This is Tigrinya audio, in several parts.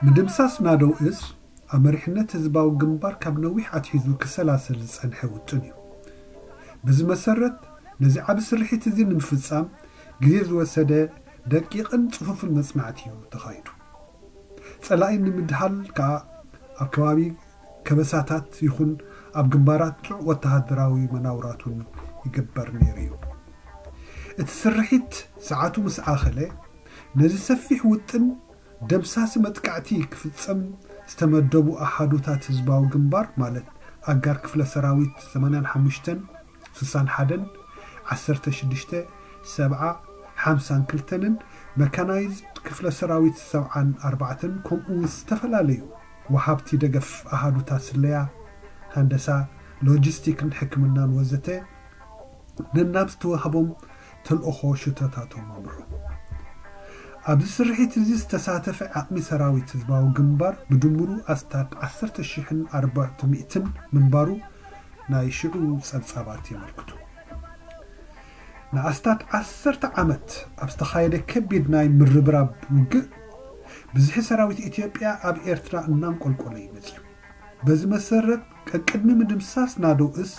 ምድምሳስ ናደው እዝ ኣብ መሪሕነት ህዝባዊ ግንባር ካብ ነዊሕ ኣትሒዙ ክሰላሰል ዝጸንሐ ውጥን እዩ። በዚ መሰረት፣ ነዚ ዓቢ ስርሒት እዚ ንምፍጻም ግዜ ዝወሰደ ደቂቕን ጽፉፍን መጽናዕቲ እዩ ተኻይዱ። ጸላኢ ንምድሃል ከኣ ኣብ ከባቢ ከበሳታት ይኹን ኣብ ግንባራት ጥዑቕ ወተሃደራዊ መናውራቱን ይግበር ነይሩ እዩ። እቲ ስርሒት ሰዓቱ ምስ ኣኸለ፣ ነዚ ሰፊሕ ውጥን ደምሳሲ መጥቃዕቲ ክፍጸም ዝተመደቡ ኣሃዱታት ህዝባዊ ግንባር፣ ማለት ኣጋር ክፍለ ሰራዊት ሰማንያን ሓሙሽተን፣ ስሳን ሓደን፣ ዓሰርተ ሽዱሽተ፣ ሰብዓ፣ ሓምሳን ክልተንን፣ መካናይዝድ ክፍለ ሰራዊት ሰብዓን ኣርባዕተን፣ ከምኡ እውን ዝተፈላለዩ ወሃብቲ ደገፍ ኣሃዱታት ስለያ፣ ሃንደሳ፣ ሎጂስቲክን ሕክምናን ወዘተ፣ ነናብ ዝተዋህቦም ተልእኾ ሽቶታቶም ኣምርሑ። ኣብዚ ስርሒት እዚ ዝተሳተፈ ዓቕሚ ሰራዊት ህዝባዊ ግንባር ብድምሩ ኣስታት ዓሰርተ ሽሕን ኣርባዕተ ሚእትን ምንባሩ ናይ ሽዑ ጸብጻባት የመልክቱ። ንኣስታት ዓሰርተ ዓመት ኣብ ዝተኻየደ ከቢድ ናይ ምርብራብ ውግእ፣ ብዝሒ ሰራዊት ኢትዮጵያ ኣብ ኤርትራ እናንቆልቆለ እዩ መጺኡ። በዚ መሰረት፣ ቀቅድሚ ምድምሳስ ናደው እዝ፣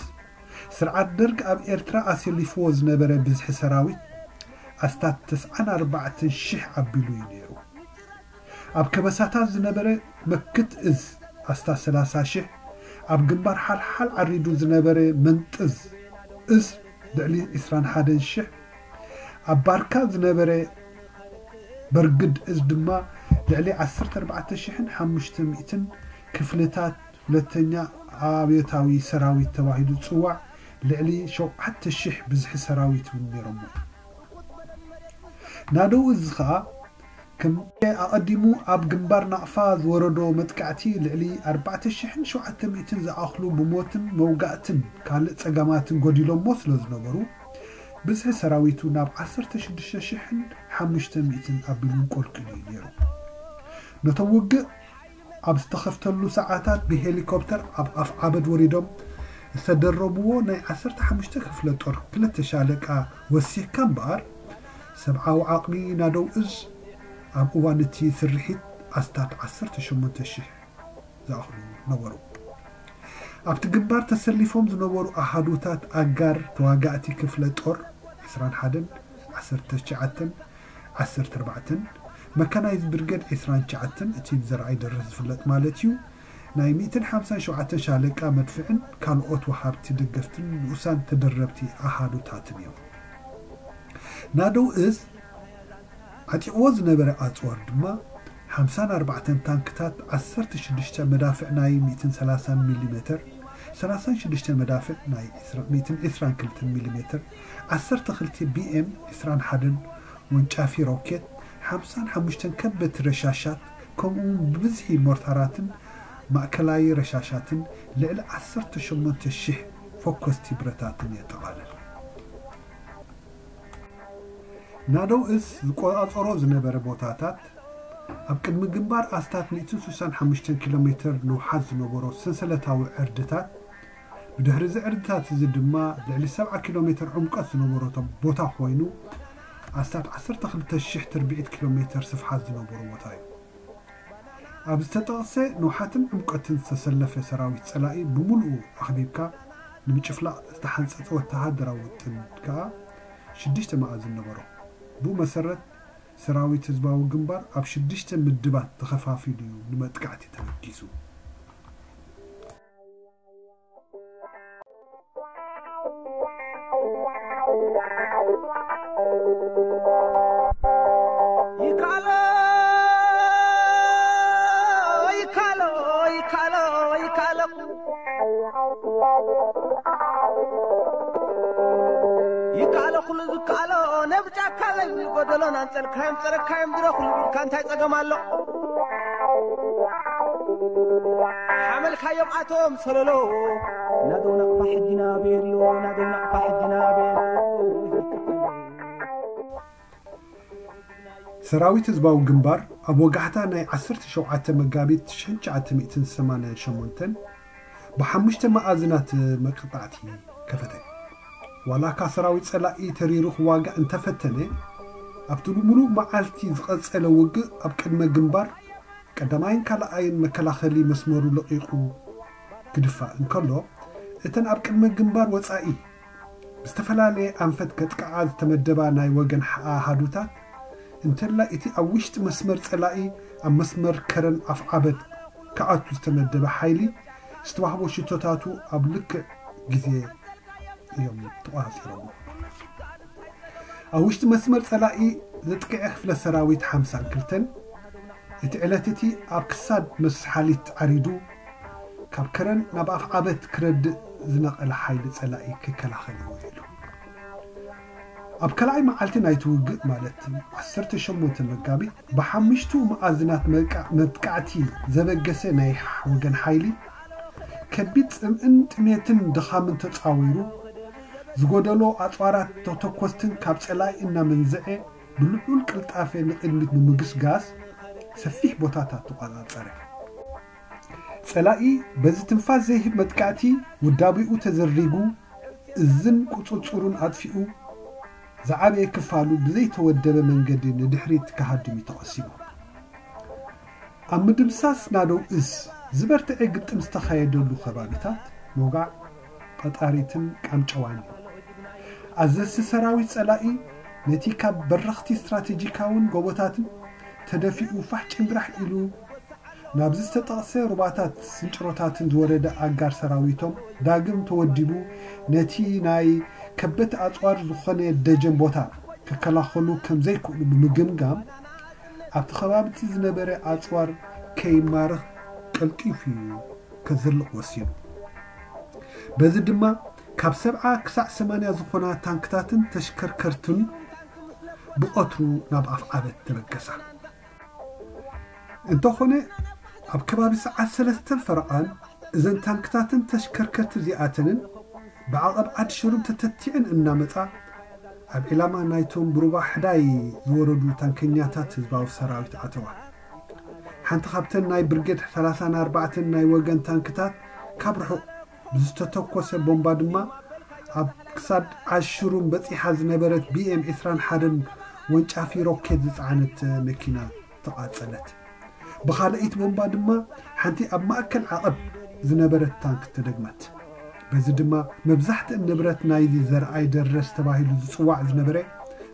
ስርዓት ደርግ ኣብ ኤርትራ ኣሰሊፍዎ ዝነበረ ብዝሒ ሰራዊት ኣስታት ተስዓን ኣርባዕተን ሽሕ ኣቢሉ እዩ ነይሩ። ኣብ ከበሳታት ዝነበረ መክት እዝ ኣስታት ሰላሳ ሽሕ፣ ኣብ ግንባር ሓልሓል ዓሪዱ ዝነበረ መንጥዝ እዝ ልዕሊ ዕስራን ሓደን ሽሕ፣ ኣብ ባርካ ዝነበረ በርግድ እዝ ድማ ልዕሊ ዓሰርተ ኣርባዕተ ሽሕን ሓሙሽተ ሚእትን ክፍልታት ሁለተኛ ኣብዮታዊ ሰራዊት ተባሂሉ ዝጽዋዕ ልዕሊ ሸውዓተ ሽሕ ብዝሒ ሰራዊት እውን ነይሮሞ። ናደው እዝ ኸኣ ከም ኣቐዲሙ ኣብ ግንባር ናቕፋ ዝወረዶ መጥቃዕቲ ልዕሊ ኣርባዕተ ሽሕን ሸውዓተ ሚእትን ዝኣኽሉ ብሞትን መውጋእትን ካልእ ጸገማትን ጎዲሎሞ ስለ ዝነበሩ፣ ብዝሒ ሰራዊቱ ናብ ዓሰርተ ሽዱሽተ ሽሕን ሓሙሽተ ሚእትን ኣቢሉ ቆልቂሉ እዩ ነይሩ። ነቶም ውግእ ኣብ ዝተኸፍተሉ ሰዓታት ብሄሊኮፕተር ኣብ ኣፍ ዓበድ ወሪዶም ዝተደረብዎ ናይ ዓሰርተ ሓሙሽተ ክፍለ ጦር ክልተ ሻለቃ ወሲኽካ እምበኣር፣ ሰብዓዊ ዓቕሚ ናደው እዝ ኣብ እዋን እቲ ስርሒት ኣስታት ዓሰርተ ሸሞንተ ሽሕ ዝኣኽሉ ነበሩ። ኣብቲ ግንባር ተሰሊፎም ዝነበሩ ኣሃዱታት ኣጋር ተዋጋእቲ ክፍለ ጦር ዕስራን ሓደን፣ ዓሰርተ ትሽዓተን፣ ዓሰርተ ኣርባዕተን፣ መካናይዝ ብርገድ ዕስራን ትሽዓተን፣ እቲ ብዘርኣይ ደርህ ዝፍለጥ ማለት እዩ፣ ናይ ሚእትን ሓምሳን ሸውዓተን ሻለቃ መድፍዕን ካልኦት ወሃብቲ ደገፍትን ንኡሳን ተደረብቲ ኣሃዱታትን እዮም። ናደው እዝ ዓጢቕዎ ዝነበረ ኣጽዋር ድማ ሓምሳን ኣርባዕተን ታንክታት፣ ዓሰርተ ሽዱሽተ መዳፍዕ ናይ ሚእትን ሰላሳን ሚሊ ሜተር፣ ሰላሳን ሽዱሽተ መዳፍዕ ናይ ሚእትን ዕስራን ክልተን ሚሊ ሜተር፣ ዓሰርተ ክልተ ቢኤም ዕስራን ሓደን ወንጫፊ ሮኬት፣ ሓምሳን ሓሙሽተን ከበድቲ ረሻሻት፣ ከምኡውን ብብዝሒ ሞርታራትን ማእከላይ ረሻሻትን ልዕሊ ዓሰርተ ሸሞንተ ሽሕ ፈኮስቲ ብረታትን የጠቓልል። ናደው እዝ ዝቆጻጸሮ ዝነበረ ቦታታት፣ ኣብ ቅድሚ ግንባር ኣስታት ሚእትን ስሳን ሓሙሽተን ኪሎ ሜተር ንውሓት ዝነበሮ ሰንሰለታዊ ዕርድታት፣ ብድሕሪ እዚ ዕርድታት እዚ ድማ ልዕሊ ሰብዓ ኪሎ ሜተር ዕምቆት ዝነበሮ ቦታ ኮይኑ፣ ኣስታት ዓሰርተ ክልተ ሽሕ ትርብዒት ኪሎ ሜተር ስፍሓት ዝነበሮ ቦታ እዩ። ኣብ ዝተጠቕሰ ንውሓትን ዕምቆትን ዝተሰለፈ ሰራዊት ጸላኢ ብምሉኡ ኣኽቢብካ ንምጭፍላቕ ዝተሓንጸጸ ወተሃደራዊ ውጥን ከኣ ሽዱሽተ መኣዝን ነበሮ። ብኡ መሰረት፣ ሰራዊት ህዝባዊ ግንባር ኣብ ሽዱሽተ ምድባት ተኸፋፊሉ እዩ ንመጥቃዕቲ ተበጊሱ። ይካሎ፣ ይካሎ፣ ይካሎ፣ ይካሎ። ይካሎ ኩሉ ዝካሎ ነብጫ ካለኝ ጎደሎን ኣንጸልካዮም ጸረካዮም ድረኹሉ ኢልካ እንታይ ጸገም ኣሎ? ሓመልካዮም ኣቶም ሰለሎ ናደው ናቕፋ ሕጂና ቤርዮ ናደው ናቕፋ ሕጂና ቤርዮ። ሰራዊት ህዝባዊ ግንባር ኣብ ወጋሕታ ናይ ዓሰርተ ሸውዓተ መጋቢት ሽሕን ትሽዓተ ሚእትን ሰማንያን ሸሞንተን ብሓሙሽተ መኣዝናት መቅጣዕቲ ከፈተ። ዋላ እካ ሰራዊት ጸላኢ ተሪሩ ክዋጋእ እንተፈተነ፣ ኣብቲ ብምሉእ መዓልቲ ዝቐጸለ ውግእ ኣብ ቅድመ ግንባር ቀዳማይን ካልኣይን መከላኸሊ መስመሩ ለቒቑ ክድፋእ እንከሎ፣ እተን ኣብ ቅድመ ግንባር ወጻኢ ብዝተፈላለየ ኣንፈት ከጥቅዓ ዝተመደባ ናይ ወገን ኣሃዱታት፣ እንተላይ እቲ ኣብ ውሽጢ መስመር ጸላኢ ኣብ መስመር ከረን ኣፍዓበት ክኣቱ ዝተመደበ ሓይሊ ዝተዋህቦ ሽቶታቱ ኣብ ልክዕ ግዜ እዮም ተቖጻጺሮሞ። ኣብ ውሽጢ መስመር ጸላኢ ዘጥቅዐ ክፍለ ሰራዊት ሓምሳን ክልተን እቲ ዕለት እቲ ኣብ ክሳድ መስሓሊት ዓሪዱ ካብ ከረን ናብ ኣፍዓበት ክረድእ ዝነቐለ ሓይሊ ጸላኢ ክከላኸል እዩ ውዒሉ። ኣብ ካልኣይ መዓልቲ ናይቲ ውግእ ማለት ዓሰርተ ሸሞንተ መጋቢት ብሓሙሽቱ መኣዝናት መቃ- መጥቃዕቲ ዘበገሰ ናይ ወገን ሓይሊ ከቢድ ጽምእን ጥሜትን ድኻምን ተጻዊሩ ዝጎደሎ ኣጽዋራት ተተኮስትን ካብ ጸላኢ እናመንዝዐ ብልዑል ቅልጣፈ ንቕድሚት ብምግስጋስ ሰፊሕ ቦታታት ተቆጻጸረ። ጸላኢ በዚ ትንፋስ ዘይህብ መጥቃዕቲ ውዳቤኡ ተዘሪጉ እዝን ቁጽጽሩን ኣጥፊኡ ዝዓበየ ክፋሉ ብዘይተወደበ መንገዲ ንድሕሪት ክሃድም እዩ ተቐሲቡ። ኣብ ምድምሳስ ናደው እዝ ዝበርትዐ ግጥም ዝተኻየደሉ ከባቢታት ሞጋዕ፣ ቀጣሪትን ቃምጨዋን እዩ። ኣዘዝቲ ሰራዊት ጸላኢ ነቲ ካብ በረኽቲ ስትራቴጂካውን ጎቦታትን ተደፊኡ ፋሕ ጭንግራሕ ኢሉ ናብዚ ዝተጠቕሰ ሩባታት ስንጭሮታትን ዝወረደ ኣጋር ሰራዊቶም ዳግም ተወዲቡ ነቲ ናይ ከበቲ ኣጽዋር ዝኾነ ደጀን ቦታ ክከላኸሉ ከም ዘይክእሉ ብምግምጋም ኣብቲ ከባቢ እቲ ዝነበረ ኣጽዋር ከይማርኽ ቀልጢፉ እዩ ከዝልቕ ወሲኑ። በዚ ድማ ካብ ሰብዓ ክሳዕ ሰማንያ ዝኾና ታንክታትን ተሽከርከርትን ብቐትሩ ናብ ኣፍዓበት ተበገሳ። እንተኾነ ኣብ ከባቢ ሰዓት ሰለስተ ፈረቓን እዘን ታንክታትን ተሽከርከርቲ እዚኣተንን ብዓቐብ ዓዲ ሽሩም ተተቲዐን እናመጻ ኣብ ዒላማ ናይቶም ብሩባ ሕዳይ ዝወረዱ ታንከኛታት ህዝባዊ ሰራዊት ኣተዋ። ሓንቲ ካብተን ናይ ብርጌድ ሰላሳን ኣርባዕተን ናይ ወገን ታንክታት ካብ ርሑቕ ብዝተተኮሰ ቦምባ ድማ ኣብ ክሳድ ዓሽሩም በጺሓ ዝነበረት ቢኤም ዕስራን ሓደን ወንጫፊ ሮኬት ዝጸዓነት መኪና ተቓጸለት። ብኻልኣይቲ ቦምባ ድማ ሓንቲ ኣብ ማእከል ዓቐብ ዝነበረት ታንክ ተደግመት። በዚ ድማ መብዛሕትእን ንብረት ናይዚ ዘርኣይ ደረስ ተባሂሉ ዝጽዋዕ ዝነበረ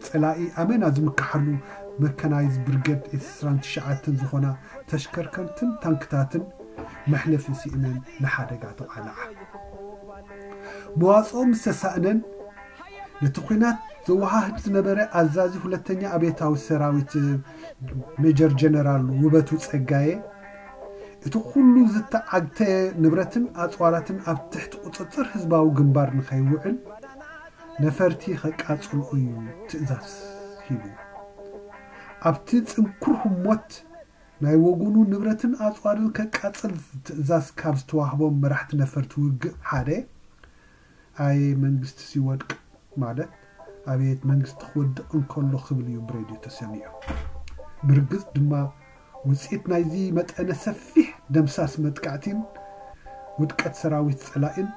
ጸላኢ ኣመና ዝምክሓሉ መካናይዝ ብርገድ ዕስራን ትሽዓተን ዝኾና ተሽከርከርትን ታንክታትን መሕለፊ ስኢነን ንሓደጋ ተቓልዓ። መዋጽኦ ምስ ተሳእነን ነቲ ኲናት ዘወሃህድ ዝነበረ ኣዛዚ ሁለተኛ ኣብዮታዊ ሰራዊት ሜጀር ጀነራል ውበቱ ጸጋየ እቲ ኩሉ ዝተዓግተ ንብረትን ኣጽዋራትን ኣብ ትሕቲ ቁጽጽር ህዝባዊ ግንባር ንኸይውዕል ነፈርቲ ከቃጽልኦ እዩ ትእዛዝ ሂቡ። ኣብቲ ጽንኩር ህሞት ናይ ወገኑ ንብረትን ኣጽዋርን ከቃጽል ትእዛዝ ካብ ዝተዋህቦም መራሕቲ ነፈርቲ ውግእ ሓደ ኣየ መንግስቲ ሲወድቅ ማለት ኣቤት መንግስቲ ክወድቕ እንከሎ ክብል እዩ ብሬድዮ ተሰሚዑ። ብርግጽ ድማ ውጽኢት ናይዚ መጠነ ሰፊሕ ደምሳስ መጥቃዕቲን ውድቀት ሰራዊት ጸላኢን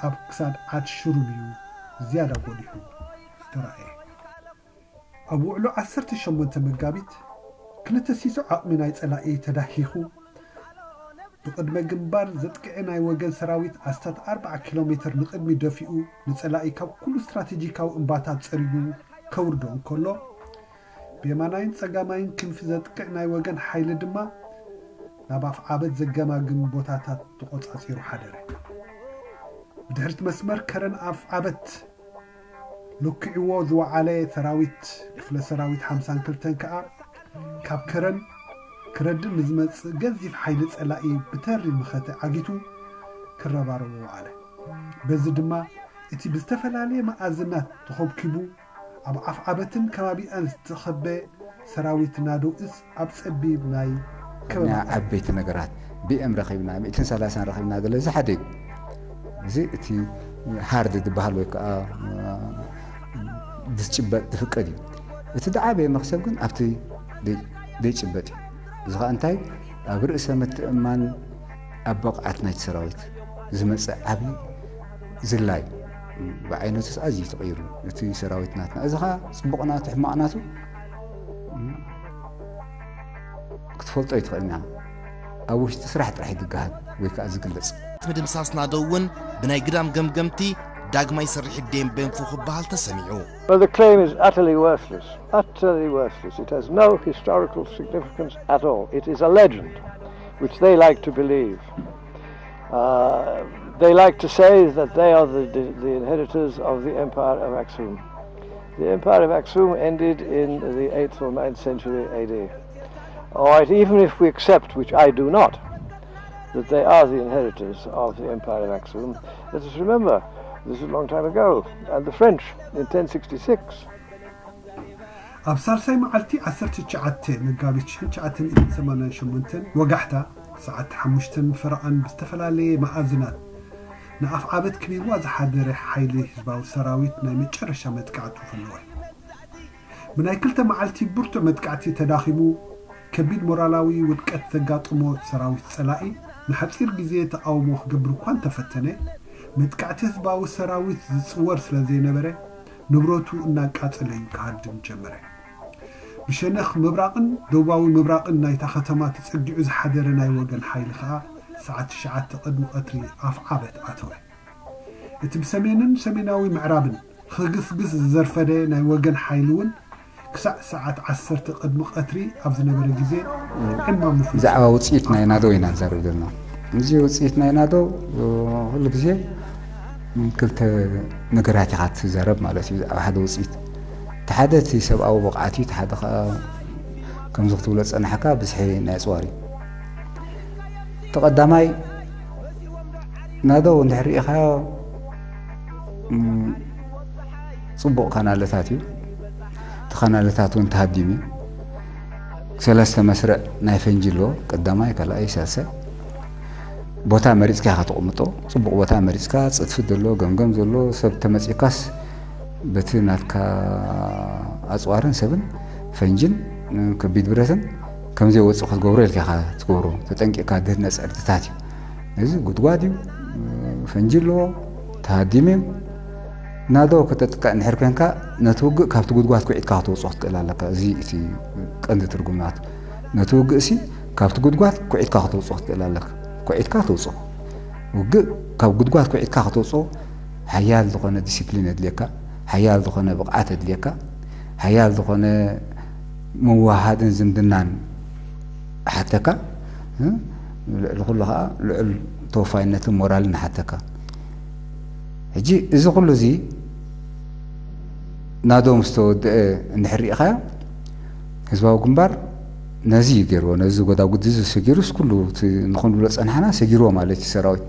ኣብ ክሳድ ዓድ ሽሩም እዩ ዝያዳ ጎሊሑ ዝተራእየ። ኣብ ውዕሎ ዓሰርተ ሸሞንተ መጋቢት ክልተ ሲሶ ዓቕሚ ናይ ጸላኢ ተዳሂኹ ብቕድመ ግንባር ዘጥቅዐ ናይ ወገን ሰራዊት ኣስታት ኣርብዓ ኪሎ ሜትር ንቕድሚ ደፊኡ ንጸላኢ ካብ ኩሉ ስትራቴጂካዊ እምባታት ጸሪጉ ከውርዶ እንከሎ ብየማናይን ጸጋማይን ክንፊ ዘጥቅዕ ናይ ወገን ሓይሊ ድማ ናብ ኣፍዓበት ዘገማግም ቦታታት ተቖጻጺሩ ሓደረ። ብድሕሪት መስመር ከረን ኣፍዓበት ለኪዕዎ ዝወዓለ ሰራዊት ክፍለ ሰራዊት ሓምሳን ክልተን ከኣ ካብ ከረን ክረድእ ንዝመጽእ ገዚፍ ሓይሊ ጸላኢ ብተሪ መኸተ ዓጊቱ ክረባረቦ ወዓለ። በዚ ድማ እቲ ብዝተፈላለየ መኣዝናት ተኸብኪቡ ኣብ ኣፍዓበትን ከባቢኣን ዝተኸበ ሰራዊት ናደው እዝ ኣብ ጸቢብ ናይ ከበባ ዓበይቲ ነገራት ቢኤም ረኺብና፣ ሚእትን ሰላሳን ረኺብና ገለ እዚ ሓደ እዩ። እዚ እቲ ሃርድ ዝበሃል ወይ ከዓ ዝጭበጥ ዝፍቀድ እዩ። እቲ ዝዓበየ መኽሰብ ግን ኣብቲ ደይ- ደይጭበጥ እዩ። እዚ ከዓ እንታይ ኣብ ርእሰ ምትእምማን ኣብ ብቕዓት ናይቲ ሰራዊት ዝመፅእ ዓብዪ ዝላይ ብዓይነቱ ኣዝዩ ተቐይሩ እቲ ሰራዊት ናትና። እዚ ከዓ ፅቡቕ ናቱ ሕማቕ ናቱ ክትፈልጦ ኣይትኽእልን ኢኻ። ኣብ ውሽጢ ስራሕ ጥራሕ እዩ ዝገሃድ ወይ ከዓ ዝግለጽ። ምድምሳስ ናደው እውን ብናይ ግዳም ገምገምቲ ዳግማይ ስርሒት ዴምቤንፉ ክበሃል ተሰሚዑ። Well, the claim is utterly worthless, utterly worthless. It has no historical significance at all. It is a legend which they like to believe. Uh, they like to say that they are the, the, the inheritors of the Empire of Aksum. The Empire of Aksum ended in the eighth or ninth century A D. All right, even if we accept, which I do not, that they are the inheritors of the Empire of Aksum, let us remember this is a long time ago, and the French in ten sixty-six. ኣብ ሳልሳይ መዓልቲ ዓሰርተ ትሽዓተ መጋቢት ሽሕን ትሽዓተ ሚእትን ሰማንያን ሸሞንተን ወጋሕታ ሰዓት ሓሙሽተን ፈረቓን ብዝተፈላለየ መኣዝናት ንኣፍዓበት ከቢብዋ ዝሓደረ ሓይሊ ህዝባዊ ሰራዊት ናይ መጨረሻ መጥቃዕቱ ፈነወ። ብናይ ክልተ መዓልቲ ብርቱዕ መጥቃዕቲ ተዳኺሙ፣ ከቢድ ሞራላዊ ውድቀት ዘጋጠሞ ሰራዊት ጸላኢ ንሓጺር ግዜ ተቓውሞ ክገብር እኳ እንተፈተነ፣ መጥቃዕቲ ህዝባዊ ሰራዊት ዝጽወር ስለ ዘይነበረ፣ ንብረቱ እናቃጸለ እዩ ክሃድም ጀመረ። ብሸነኽ ምብራቕን ደቡባዊ ምብራቕን ናይታ ከተማ ተጸጊዑ ዝሓደረ ናይ ወገን ሓይሊ ከኣ ሰዓት ትሽዓተ ቅድሚ ቀትሪ ኣፍዓበት ኣተወ። እቲ ብሰሜንን ሰሜናዊ ምዕራብን ክግስግስ ዝዘርፈደ ናይ ወገን ሓይሊ እውን ክሳዕ ሰዓት ዓሰርተ ቅድሚ ቀትሪ ኣብ ዝነበረ ግዜ ዕማሙ ፈጺሙ። ብዛዕባ ውፅኢት ናይ ናደው ኢና ንዛረብ ዘለና። እዚ ውፅኢት ናይ ናደው ኩሉ ግዜ ክልተ ነገራት ኢኻ ትዛረብ ማለት እዩ። ብዛዕባ ሓደ ውፅኢት፣ እቲ ሓደ እቲ ሰብኣዊ ብቕዓት እዩ፣ እቲ ሓደ ከዓ ከምዚ ክትብሎ ዝፀናሕካ ብዝሒ ናይ ኣፅዋር እዩ። እቲ ቀዳማይ ናደው እንድሕር ርኢኻዮ፣ እም፣ ጽቡቕ ካናለታት እዩ። እቲ ካናለታት እውን ተሃዲሙ እዩ። ሰለስተ መስርዕ ናይ ፈንጂ ኣለዎ። ቀዳማይ፣ ካልኣይ፣ ሳልሳይ። ቦታ መሪጽካ ኢኻ ተቕምጦ። ጽቡቕ ቦታ መሪጽካ፣ ጽድፊ ዘሎ፣ ገምገም ዘሎ፣ ሰብ ተመጺእካስ በቲ ናትካ ኣጽዋርን ሰብን ፈንጅን ከቢድ ብረትን ከም ዘይወጽእ ክትገብሮ ኢልካ ኢኻ ትገብሮ። ተጠንቂቕካ ድህነጽ ዕርድታት እዩ። እዚ ጉድጓድ እዩ፣ ፈንጂ ኣለዎ፣ ተሃዲሙ እዩ። ናዶ ከተጥቅዕ እንድሕር ኮንካ ነቲ ውግእ ካብቲ ጉድጓድ ኩዒትካ ከተውጽኦ ክትክእል ኣለካ። እዚ እቲ ቀንዲ ትርጉም ናቱ። ነቲ ውግእ ሲ ካብቲ ጉድጓድ ኩዒትካ ከተውጽኦ ክትክእል ኣለካ። ኩዒትካ ተውጽኦ። ውግእ ካብ ጉድጓድ ኩዒትካ ከተውጽኦ ሓያል ዝኾነ ዲሲፕሊን የድልየካ፣ ሓያል ዝኾነ ብቕዓት የድልየካ፣ ሓያል ዝኾነ ምውህሃድን ዝምድናን ሓተካ። ልዕሊ ኩሉ ከዓ ልዑል ተወፋይነትን ሞራልን ሓተካ። ሕጂ እዚ ኩሉ እዚ ናዶ ምስ ተወድአ እንድሕር ርኢኻዮ፣ ህዝባዊ ግንባር ነዚ እዩ ገይርዎ። ነዚ ጎዳጉዲ እዚ ሰጊሩስ ኩሉ እቲ ንኹን ብሎ ጸናሕና ሰጊርዎ ማለት እዩ ሰራዊት።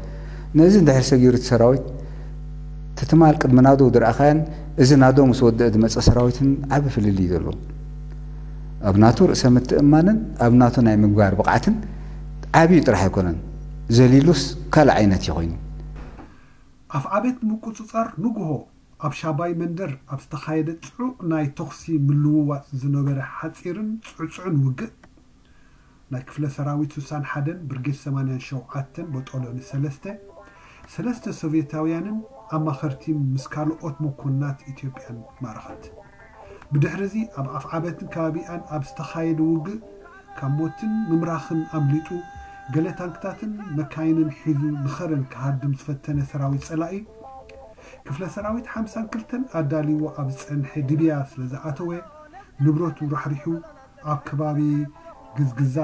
ነዚ እንድሕር ሰጊሩ እቲ ሰራዊት፣ እቲ ትማል ቅድሚ ናዶ ዝረኣኻዮን እዚ ናዶ ምስ ወደአ ዝመጸ ሰራዊትን ዓቢ ፍልልይ እዩ ዘለዎ። ኣብ ናቱ ርእሰ ምትእምማንን ኣብ ናቱ ናይ ምግባር ብቕዓትን ዓብዩ ጥራሕ ኣይኮነን፣ ዘሊሉስ ካልእ ዓይነት እዩ ኮይኑ። ኣፍዓበት ንምቁጽጻር ንግሆ ኣብ ሻባይ መንደር ኣብ ዝተኻየደ ጽዑቕ ናይ ተኹሲ ምልውዋጥ ዝነበረ ሓጺርን ጽዕጹዕን ውግእ፣ ናይ ክፍለ ሰራዊት ስሳን ሓደን ብርጌድ ሰማንያን ሸውዓተን ቦጦሎኒ ሰለስተ፣ ሰለስተ ሶቭየታውያንን ኣማኸርቲ ምስ ካልኦት መኮንናት ኢትዮጵያን ማረኸት። ብድሕሪ እዚ ኣብ ኣፍዓበትን ከባቢኣን ኣብ ዝተኻየደ ውግእ ካብ ሞትን ምምራኽን ኣምሊጡ፣ ገለ ታንክታትን መካይንን ሒዙ ንኸረን ክሃድም ዝፈተነ ሰራዊት ጸላኢ፣ ክፍለ ሰራዊት ሓምሳን ክልተን ኣዳልይዎ ኣብ ዝጸንሐ ድብያ ስለ ዝኣተወ፣ ንብረቱ ራሕሪሑ ኣብ ከባቢ ግዝግዛ፣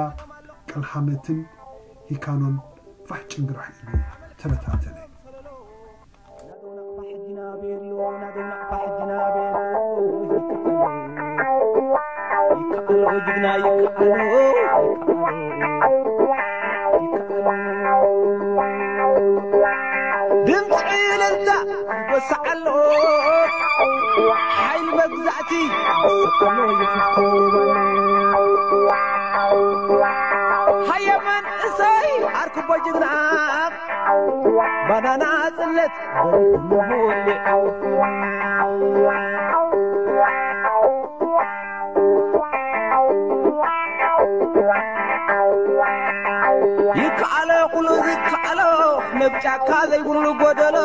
ቀልሓመትን ሂካኖን ፋሕ ጭንግራሕ ኢሉ ተበታተነ። ድምፂ እልልታ ይጎስዓሎ፣ ሓይሊ መግዛእቲ ይስቀሎ ይፍኮ። ሃየ መንእሰይ ዓርኩቦ ጅግና፣ ባናና ጽለት በልኩ ሙሁሌ። ይከኣሎ ኩሉ ዝከኣሎ፣ ነብ ጫካ ዘይብሉ ጎደሎ።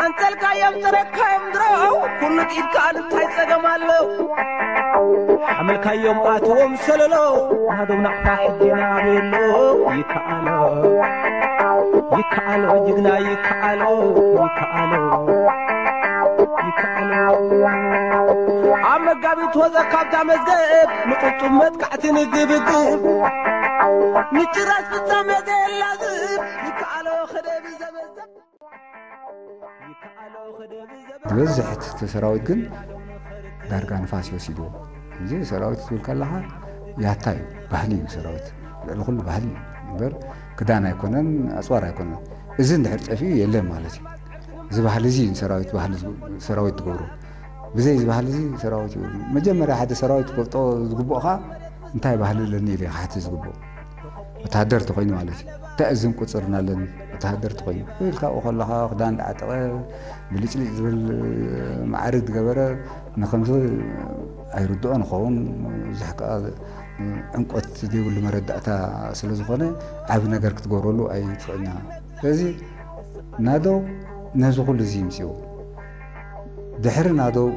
ኣንጸልካዮ የምፅረካዮም ድሮ ኩሉ ኢድካ እንታይ ፀገም ኣሎ? ሓመልካዮም ኣትዎም ሰለሎ ናዶም ናቕፋ ሕጂ ናበሎ ይከኣሎ ይከኣሎ ጅግና ይከኣሎ ይከኣሎ ይከኣሎ ኣብ መጋቢት ወፀ ካብታ መዝገብ ንጥጡም መጥቃዕቲ ንግብግብ ንጭራስ ፍጻሜ ዘየላዝብ ይከኣሎ ክደብ ዘመዘብ ዝበዝሕ እቲ ሰራዊት ግን ዳርጋ ንፋስ ይወሲድዎ። እዚ ሰራዊት ትብል ከለኻ ያታ እዩ፣ ባህሊ እዩ ሰራዊት። ልዕሊ ኩሉ ባህሊ እዩ እምበር ክዳን ኣይኮነን፣ ኣፅዋር ኣይኮነን። እዚ እንድሕር ጠፊኡ የለን ማለት እዩ። እዚ ባህሊ እዚ እዩ ሰራዊት ባህሊ ዝግ- ሰራዊት ትገብሮ። ብዘይ እዚ ባህሊ እዚ ሰራዊት እዩ። መጀመርያ ሓደ ሰራዊት ክፈልጦ ዝግብኦ ከዓ እንታይ ባህሊ ኣለኒ ኢለ ክሓትት ዝግብኦ። ወተሃደር ተኮይኑ ማለት እዩ። እንታይ እዝን ቁፅርን ኣለኒ ወተሃደር ተኮይኑ ኢልካ ኣብኡ ከለካ ክዳን ዳዓጠቀ ብልጭልጭ ዝብል ማዕርግ ዝገበረ ንከምዚ ኣይርድኦ ንኸውን ብዙሕ ከዓ ዕምቆት ዘይብሉ መረዳእታ ስለዝኮነ ዓብ ነገር ክትገብረሉ ኣይትኽእልና። ስለዚ ናደው ነዚ ኩሉ እዚ ይምፅኡ ድሕሪ ናደው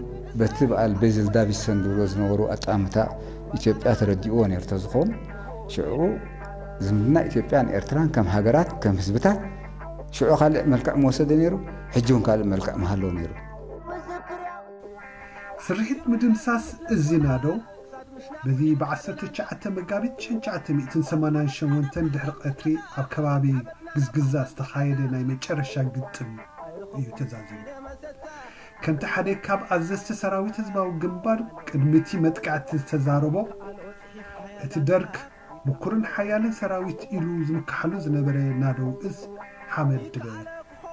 በቲ በዓል ቤዝል ዳቪድሰን ዝብሎ ዝነበሩ ኣጣምታ ኢትዮጵያ ተረዲእዎ ነይሩ ተዝኾን ሽዑ ዝምድና ኢትዮጵያን ኤርትራን ከም ሃገራት ከም ህዝብታት ሽዑ ካልእ መልክዕ መወሰደ ነይሩ። ሕጂ እውን ካልእ መልክዕ መሃለዎ ነይሩ። ስርሒት ምድምሳስ እዚ ናደው በዚ ብ19 መጋቢት 1988 ድሕሪ ቀትሪ ኣብ ከባቢ ግዝግዛ ዝተኻየደ ናይ መጨረሻ ግጥም እዩ ተዛዚሙ። ከምቲ ሓደ ካብ ኣዘዝቲ ሰራዊት ህዝባዊ ግንባር ቅድሚ እቲ መጥቃዕቲ ዝተዛረቦ፣ እቲ ደርግ ምኩርን ሓያልን ሰራዊት ኢሉ ዝምክሓሉ ዝነበረ ናደው እዝ ሓመድ ድበ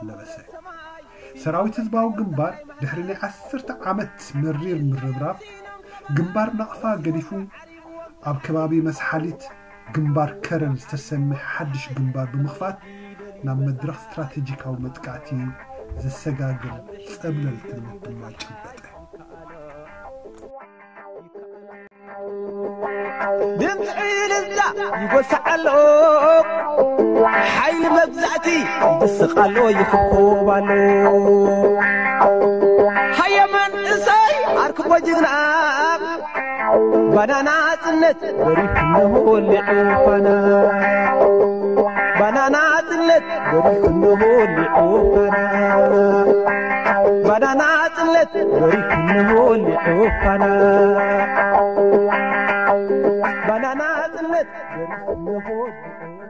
ለበሰ። ሰራዊት ህዝባዊ ግንባር ድሕሪ ናይ ዓሰርተ ዓመት መሪር ምርብራብ ግንባር ናቕፋ ገዲፉ ኣብ ከባቢ መስሓሊት ግንባር ከረን ዝተሰምሐ ሓድሽ ግንባር ብምኽፋት ናብ መድረኽ ስትራቴጂካዊ መጥቃዕቲ ዘሰጋግር ጸብለልትነት ድማ ጨበጠ። ድምፂ ዕልልታ ይጎስዕ ኣሎ ሓይሊ መግዛእቲ ይድስቕ ኣሎ ይኽብኮብ ኣሎ ሃየ መንእሰይ ኣርክቦ ጅግና ባና ናፅነት በሪኹ እነሆ ወሊዑ ፋና ባና ናፅነት በሪኹ እነሆ ወሊዑ ፋና ባና ናፅነት በሪኹ እነሆ ወሊዑ ፋና ባና ናፅነት በሪኹ እነሆ ወሊዑ